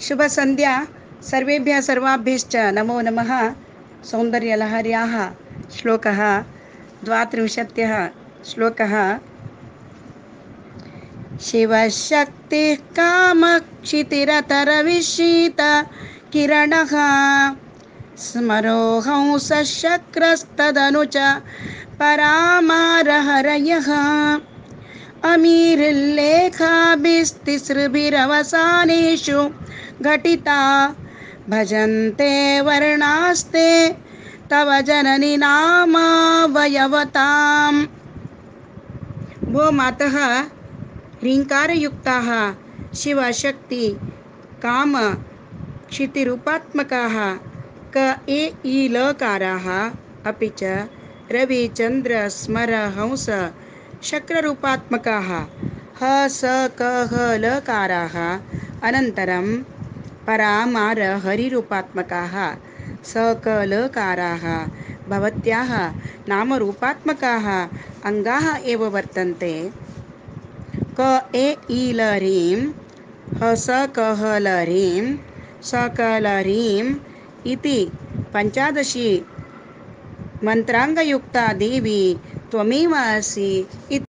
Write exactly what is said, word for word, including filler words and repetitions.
शुभ संध्या सर्वेभ्यः सर्वाभ्यश्च नमो नमः। सौन्दर्यलहर्याः श्लोकः द्वात्रिंशत्यः श्लोकः। शिवशक्तिः कामक्षितिरतरविशीत किरणः स्मरोहंसशक्रस्तदनु च परामारहरयः अमीरिल्लेखाभिस्तिसृभिरवसानेषु घटिता भजन्ते वर्णास्ते तव जननी नामावयवताम्। भो मातः, ह्रीङ्कारयुक्ताः शिवशक्ति काम क्षितिरूपात्मकाः क ए ई लकाराः अपि च रविचन्द्र स्मर हंस शक्ररूपात्मकाः ह स क ह लकाराः अनन्तरं परामार हरिरूपात्मकाः स क लकाराः भवत्याः नामरूपात्मकाः अङ्गाः एव वर्तन्ते। क ए ई ल ह्रीं ह स क ह ल ह्रीं स क ल ह्रीं इति पञ्चादशी मन्त्राङ्गयुक्ता देवी त्वमेव असि इति।